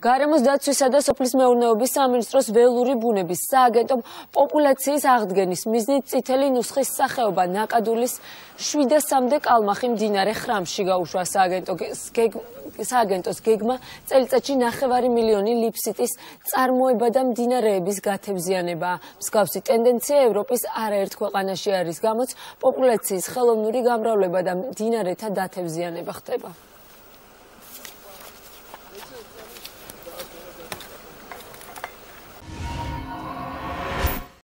გარემოს დაცვისა და სოფლის მეურნეობის სამინისტროს ველური ბუნების სააგენტომ პოპულაციის აღდგენის მიზნით წითელი ნუსხის სახეობა ნაკადულის 700-მდე კალმახი მდინარე ხრამში გაუშვა. სააგენტოს გეგმა წელიწადში 9 მილიონი ლიფსიტის წარმოება და მდინარეების გათევზიანებაა. მსგავსი ტენდენცია ევროპის არაერთ ქვეყანაში არის, გამოც პოპულაციის ხელოვნური გამრავლება და მდინარეთა დათევზიანება ხდება.